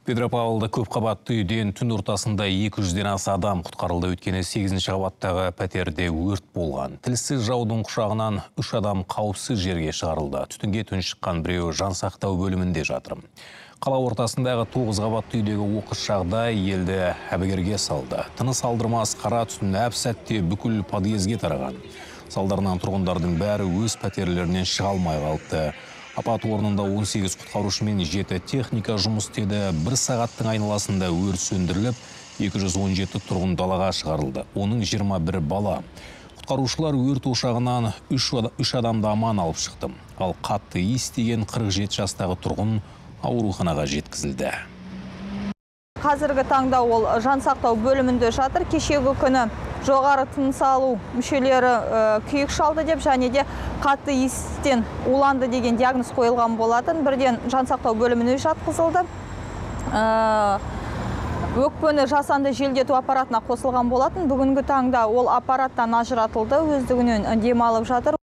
Петропавлда көпқабатты үйден түн ортасында 200-ден аса адам құтқарылды. Өткені 8-ші қабаттағы пәтерде өрт болған. Тілсіз жаудың құшағынан 3 адам қауіпсіз жерге шығарылды. Түтінге шыққан біреуі жансақтау бөлімінде жатыр. Қала ортасындағы 9 қабатты үйдегі оқыс жағдай елді әбігерге салды. Тыныс алдырмас қара түтін әп-сәтте бүкіл подъезге тараған. Салдарынан тұрғындардың бәрі өз пәтерлерінен шыға алмай қалды. Апат орнында 18 құтқарушы мен 7 техника жұмыс істеді. 1 сағаттың айналасында өрт сөндіріліп, 217 тұрғын далаға шығарылды. Оның 21 бала. Құтқарушылар өрт ошағынан 3 адамды аман алып шықты. Ал қатты естіген 47 жастағы тұрғын ауруханаға жеткізілді. Қазіргі таңда ол жансақтау бөлімінде жатыр. Кешегі күні жоғары тыныс алу мүшелері күйік шалды деп, және де қатты естен уланды деген диагноз қойылған болатын. Бірден жансақтау бөліміне жатқызылды. Өкпені жасанды желдету аппаратына қосылған болатын. Бүгінгі таңда ол аппараттан ажыратылды, өздігінен демалып жатыр.